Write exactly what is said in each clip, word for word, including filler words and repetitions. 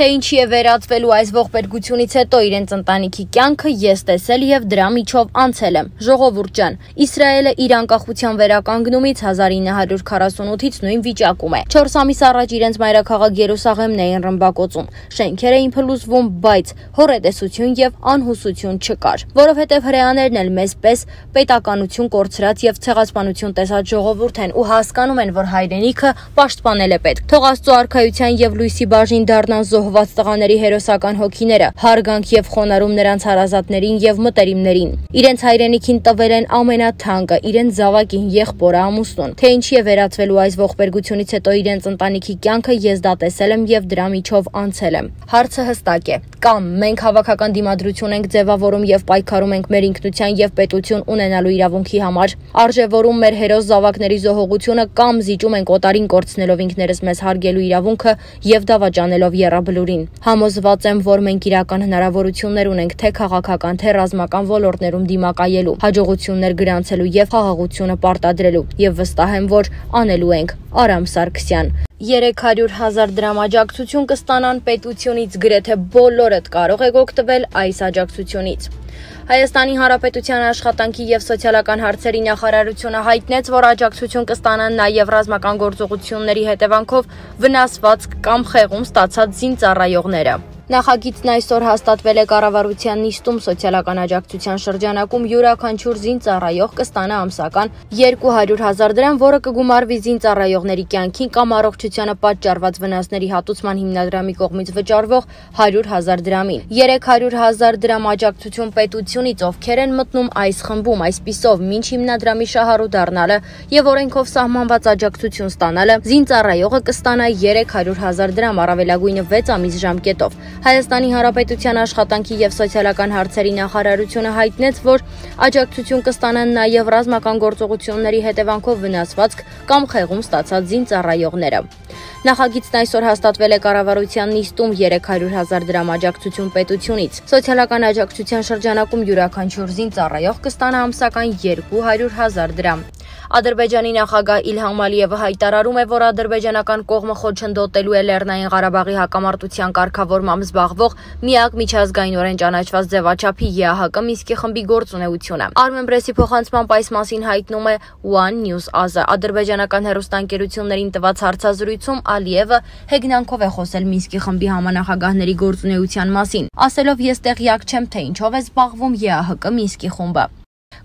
Թե ինչի է վերածվելու այս ողբերգությունից հետո իրենց ընտանիքի կյանքը ես տեսել եւ դրա միջով անցել եմ։ Ժողովուրդ ջան, Իսրայելը իր անկախության վերականգնումից հազար ինը հարյուր քառասունութից նույն վիճակում է։ չորս ամիս առաջ իրենց մայրաքաղաք Երուսաղեմն էին ռմբակոծում։ Շենքեր էին փլուզվում, բայց հոռետեսություն եւ անհուսություն չկար, որովհետեւ հրեաներն էլ մեզ պես պետականություն կորցրած եւ ցեղասպանություն տեսած ժողովուրդ են ու հասկանում են, որ հայրենիքը պաշտպանել է պետք։ Թող Աստծո արքայության եւ լույսի բաժին դառնան զոհված տղաների հերոսական հոգիները, հարգանք եւ խոնարհում նրանց հարազատներին եւ մտերիմներին։ Իրենց հայրենիքին տվել են ամենաթանկը, իրենց զավակին, եղբորը, ամուսնուն։ Թե ինչի է վերածվելու այս ողբերգությունից հետո իրենց ընտանիքի կյանքը ես դա տեսել եմ եւ դրա միջով անցել եմ։ Հարցը հստակ է. կամ մենք հավաքական դիմադրություն ենք ձևավորում եւ պայքարում ենք մեր ինքնության եւ պետություն ունենալու իրավունքի համար, արժևորում մեր հերոս զավակների զոհողությունը, կամ զիջում ենք օտարին կորցնելով ինքներս մեզ հարգելու իրավունքը եւ դավաճանելով եռաբլուրին։ Համոզված եմ, որ մենք իրական հնարավորություններ ունենք թե քաղաքական, թե ռազմական ոլորտներում դիմակայելու, հաջողություններ գրանցելու եւ խաղաղությունը պարտադրելու, եւ վստահ եմ, որ անելու ենք։ Արամ Սարգսյան։ երեք հարյուր հազար դրամ աջակցություն կստանան պետությունից, գրեթե բոլորդ կարող եք օգտվել այս աջակցությունից։ Հայաստանի Հանրապետության աշխատանքի եւ սոցիալական հարցերի նախարարությունը հայտնեց, որ աջակցություն կստանան նաեւ ռազմական գործողությունների հետևանքով վնասված կամ խեղում ստացած զինծառայողները։ Նախագիծն այսօր հաստատվել է կառավարության նիստում սոցիալական աջակցության շրջանակում յուրաքանչյուր զինծառայող կստանա ամսական երկու հարյուր հազար դրամ, որը կգումարվի զինծառայողների կյանքին կամ առողջությանը պատճառված վնասների հատուցման հիմնադրամի կողմից վճարվող հարյուր հազար դրամին։ երեք հարյուր հազար դրամ աջակցություն պետությունից, ովքեր են մտնում այս խմբում, այսպիսով մինչ հիմնադրամի շահառու դառնալը եւ օրենքով սահմանված աջակցություն ստանալը, զինծառայողը կստանա երեք հարյուր հազար դրամ, առավելագույնը վեց ամիս ժամկետով։ Հայաստանի Հանրապետության աշխատանքի եւ սոցիալական հարցերի նախարարությունը հայտնեց, որ աջակցություն կստանան նաեւ ռազմական գործողությունների հետևանքով վնասված կամ խեղում ստացած զինծառայողները։ Նախագիծն այսօր հաստատվել է կառավարության նիստում երեք հարյուր հազար դրամ աջակցություն պետությունից։ Սոցիալական աջակցության շրջանակում յուրաքանչյուր զինծառայող կստանա ամսական երկու հարյուր հազար դրամ։ Ադրբեջանի նախագահ Իլհամ Ալիևը հայտարարում է, որ ադրբեջանական կողմը խոչընդոտելու է Լեռնային Ղարաբաղի հակամարտության կարգավորմամբ զբաղվող միակ միջազգայինորեն ճանաչված ձևաչափի ԵԱՀԿ Մինսկի խմբի գործունեությունը։ Armenpress-ի փոխանցմամբ այս մասին հայտնում է One News Asia։ Ադրբեջանական հեռուստաընկերություններին տված հարցազրույցում Ալիևը հեգնանքով է խոսել Մինսկի խմբի համանախագահների գործունեության մասին, ասելով ես տեղյակ չեմ, թե ինչով է զբաղվում ԵԱՀԿ Մինսկի խումբը։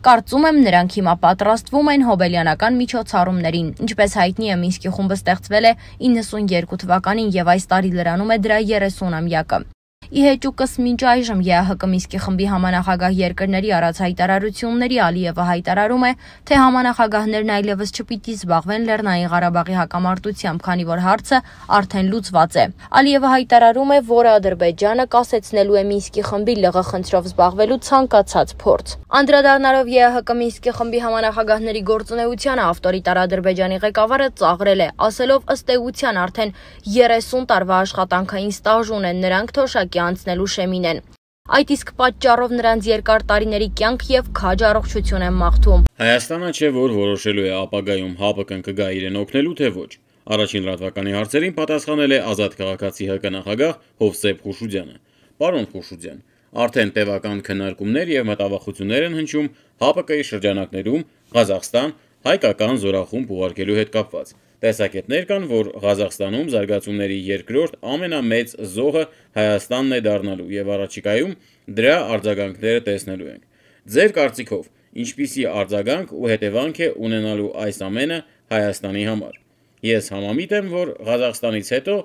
Կարծում եմ, նրանք հիմա պատրաստվում են հոբելյանական միջոցառումներին։ Ինչպես հայտնի է, Մինսկի խումբը ստեղծվել է իննսունյերկու թվականին եւ այս տարի լրանում է դրա երեսունամյակը։ Ի հեճուկս մինչ այժմ ԵԱՀԿ Մինսկի խմբի համանախագահ երկրների արած հայտարարությունների Ալիևը հայտարարում է, թե համանախագահներն այլևս չպիտի զբաղվեն Լեռնային Ղարաբաղի հակամարտությամբ, քանի որ հարցը արդեն լուծված է։ Ալիևը հայտարարում է, որ Ադրբեջանը կասեցնելու է Մինսկի խմբի ԼՂ խնդրով զբաղվելու ցանկացած փորձ։ Անդրադառնալով ԵԱՀԿ Մինսկի խմբի համանախագահների գործունեությանը, ավտորիտար Ադրբեջանի ղեկավարը ծաղրել է, ասելով ըստ էության արդեն երեսուն տարվա աշխատանքային ստաժ ունեն նրանք, թոշակի անցնելու շեմին են։ Այդ իսկ պատճառով նրանց երկար տարիների կյանք եւ քաջ առողջություն են մաղթում։ Հայաստանը չէ, որ որոշելու է ապագայում ՀԱՊԿ-ն կգա իրեն օգնելու, թե ոչ։ Առաջին լրատվականի հարցերին պատասխանել է Ազատ քաղաքացի ՀԿ նախագահ Հովսեփ Խուշուձյանը։ Պարոն Խուշուձյան, արդեն տևական քննարկումներ եւ մտավախություններ են հնչում ՀԱՊԿ-ի շրջանակներում Ղազախստան հայկական զորախումբ ուղարկելու հետ կապված։ Տեսակետներ կան, որ Ղազախստանում զարգացումների երկրորդ ամենամեծ զոհը Հայաստանն է դառնալու եւ առաջիկայում դրա արձագանքները տեսնելու ենք։ Ձեր կարծիքով, ինչպիսի արձագանք ու հետևանք է ունենալու այս ամենը Հայաստանի համար։ Ես համամիտ եմ, որ Ղազախստանից հետո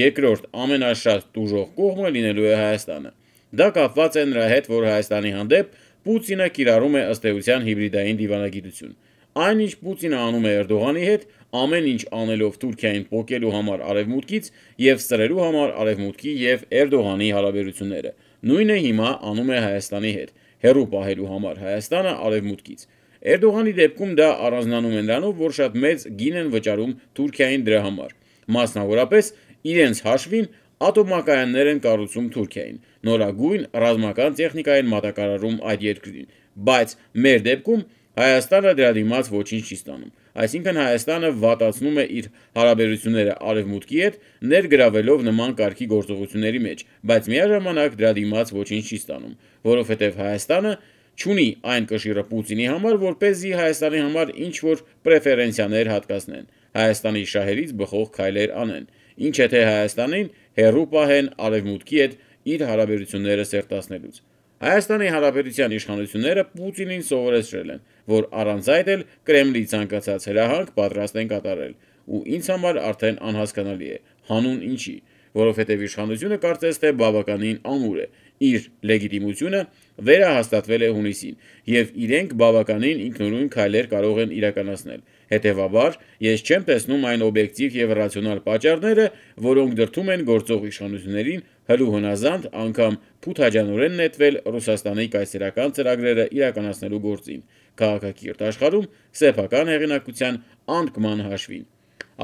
երկրորդ ամենաշատ տուժող կողմը լինելու է Հայաստանը։ Դա կապված է նրա հետ, որ Հայաստանի հանդեպ Պուտինը կիրառում է ըստ էության հիբրիդային դիվանագիտություն։ Այնինչ Պուտինը անում է Էրդողանի հետ, ամեն ինչ անելով Թուրքիային պոկելու համար արևմուտքից եւ սրելու համար արևմուտքի եւ Էրդողանի հարաբերությունները։ Նույնը հիմա անում է Հայաստանի հետ, հերու պահելու համար Հայաստանը արևմուտքից։ Էրդողանի դեպքում դա առանձնանում է նրանով, որ շատ մեծ գին են վճարում Թուրքիային դրա համար։ Մասնավորապես իրենց հաշվին ատոմակայաններ են կառուցում Թուրքիային, նորագույն ռազմական տեխնիկա են մատակարարում այդ երկրին, բայց մեր դեպքում Հայաստանը դրա դիմաց ոչինչ չի ստանում։ այսինքն Հայաստանը վատացնում է իր հարաբերությունները Արևմուտքի հետ, ներգրավելով նման կարգի գործողությունների մեջ, բայց միաժամանակ դրա դիմաց ոչինչ չի ստանում, որովհետև Հայաստանը չունի այն կշիռը Պուտինի համար, որպեսզի Հայաստանի համար ինչ-որ պրեֆերենցիաներ հատկացնեն, Հայաստանի շահերից բխող քայլեր անեն, ինչ է թե Հայաստանին հեռու պահեն Արևմուտքի հետ իր հարաբերությունները սերտացնելուց։ Հայաստանի Հանրապետության իշխանությունները Պուտինին սովորեցրել են, որ առանց այդ էլ Կրեմլի ցանկացած հրահանգ պատրաստ են կատարել, ու ինձ համար արդեն անհասկանալի է, հանուն ինչի, որովհետև իշխանությունը կարծես թե բավականին ամուր է, իր լեգիտիմությունը վերահաստատվել է հունիսին, եւ իրենք բավականին ինքնուրույն քայլեր կարող են իրականացնել։ Հետևաբար, ես չեմ տեսնում այն օբյեկտիվ եւ ռացիոնալ պատճառները, որոնք դրդում են գործող իշխանություններին հլու հնազանդ անգամ փութաջանորեն նետվել Ռուսաստանի կայսերական ծրագրերը իրականացնելու գործին, քաղաքակիրթ աշխարհում սեփական հեղինակության անկման հաշվին։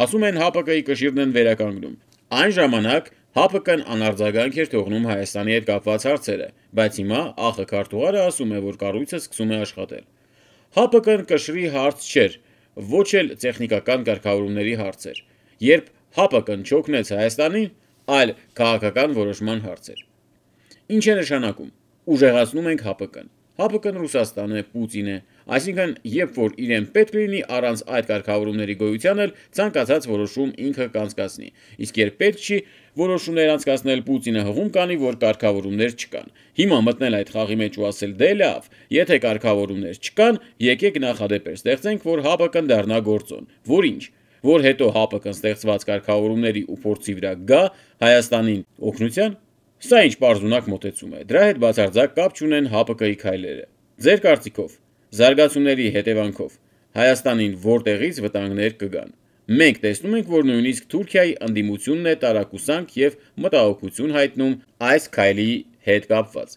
Ասում են ՀԱՊԿ-ի կշիռն են վերականգնում։ Այն ժամանակ ՀԱՊԿ-ն անարձագանք էր թողնում Հայաստանի հետ կապված հարցերը, բայց հիմա ԱԽ քարտուղարը ասում է, որ կառույցը սկսում է աշխատել։ ՀԱՊԿ-ն կշռի հարց չէր, ոչ էլ տեխնիկական կարգավորումների հարց էր, երբ ՀԱՊԿ-ն չօգնեց Հայաստանին, այլ քաղաքական որոշման հարց էր։ Ինչ է նշանակում։ Ուժեղացնում ենք ՀԱՊԿ-ն։ ՀԱՊԿ-ն Ռուսաստան է, Պուտին է, այսինքն երբ որ իրեն պետք լինի առանց այդ կարգավորումների գոյության էլ ցանկացած որոշում ինքը կանցկացնի, իսկ երբ պետք չի որոշումներ անցկացնել, Պուտինը հղում կանի, որ կարգավորումներ չկան։ Հիմա մտնել այդ խաղի մեջ ու ասել՝ դե լավ, եթե կարգավորումներ չկան, եկեք նախադեպեր ստեղծենք, որ ՀԱՊԿ-ն դառնա գործոն։ Որ ինչ, որ հետո ՀԱՊԿ-ն ստեղծված կարգավորումների ու փորձի վրա գա Հայաստանին օգնության։ Սա ինչ պարզունակ մոտեցում է, դրա հետ բացարձակ կապ չունեն ՀԱՊԿ-ի քայլերը։ Ձեր կարծիքով, զարգացումների հետևանքով Հայաստանին որտեղից վտանգներ կգան։ Մենք տեսնում ենք, որ նույնիսկ Թուրքիայի ընդդիմությունն է տարակուսանք եւ մտահոգություն հայտնում այս քայլի հետ կապված։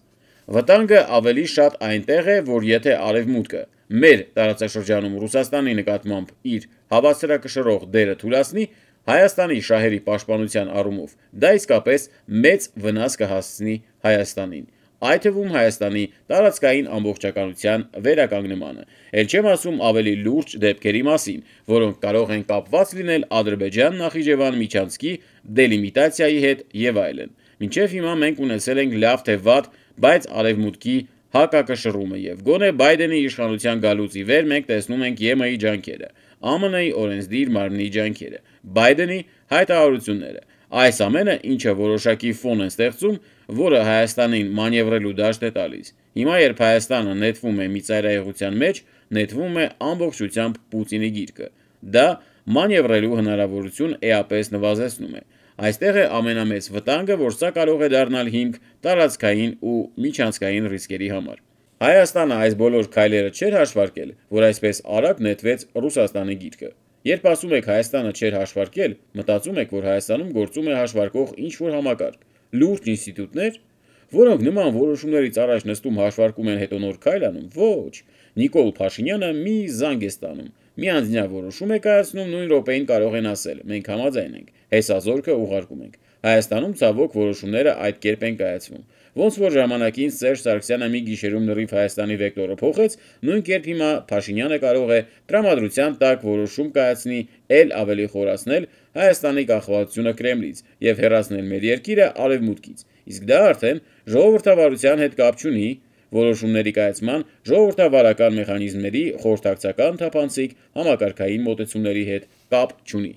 Վտանգը ավելի շատ այնտեղ է, որ եթե Արևմուտքը մեր տարածաշրջանում Ռուսաստանի նկատմամբ իր հավասարակշռող դերը թուլացնի, Հայաստանի շահերի պաշտպանության առումով դա իսկապես մեծ վնաս կհասցնի Հայաստանին, այդ թվում Հայաստանի տարածքային ամբողջականության վերականգնմանը, էլ չեմ ասում ավելի լուրջ դեպքերի մասին, որոնք կարող են կապված լինել Ադրբեջան-Նախիջևան միջանցքի դելիմիտացիայի հետ եւ այլն։ Մինչեւ հիմա մենք ունեցել ենք լավ թե վատ, բայց Արևմուտքի հակակշռումը եւ գոնե Բայդենի իշխանության գալուց ի վեր մենք տեսնում ենք ԵՄ-ի ջանքերը, ԱՄՆ-ի օրենսդիր մարմնի ջանքերը, Բայդենի հայտարարությունները։ Այս ամենը ինչը որոշակի ֆոն է ստեղծում, որը Հայաստանին մանևրելու դաշտ է տալիս։ Հիմա երբ Հայաստանը նետվում է մի ծայրահեղության մեջ, նետվում է ամբողջությամբ Պուտինի գիրկը։ Դա մանևրելու հնարավորություն էապես նվազեցնում է։ Այստեղ է ամենամեծ վտանգը, որ սա կարող է դառնալ հիմք տարածքային ու միջանցքային ռիսկերի համար։ Հայաստանը այս բոլոր քայլերը չէր հաշվարկել, որ այսպես արագ նետվեց Ռուսաստանի գիրկը։ Երբ ասում եք Հայաստանը չէր հաշվարկել, մտածում եք, որ Հայաստանում գործում է հաշվարկող ինչ-որ համակարգ, լուրջ ինստիտուտներ, որոնք նման որոշումներից առաջ նստում հաշվարկում են, հետո նոր քայլ անում։ Ոչ, Նիկոլ Փաշինյանը մի զանգ է ստանում, մի անձնյա որոշում է կայացնում, նույն րոպեին կարող են ասել՝ մենք համաձայն ենք, հեսազորքը ուղարկում ենք։ Հայաստանում ցավոք որոշումները այդ կերպ են կայացվում։ Ոնց որ ժամանակին Սերժ Սարգսյանը մի գիշերում լրիվ Հայաստանի վեկտորը փոխեց, նույն կերպ հիմա Փաշինյանը կարող է տրամադրության տակ որոշում կայացնի, ել ավելի խորացնել Հայաստանի կախվածությունը Կրեմլից եւ հեռացնել մեր երկիրը Արևմուտքից։ Իսկ դա արդեն ժողովրդավարության հետ կապ չունի, որոշումների կայացման ժողովրդավարական մեխանիզմների խորհրդակցական թափանցիկ համակարգային մոտեցումների հետ կապ չունի։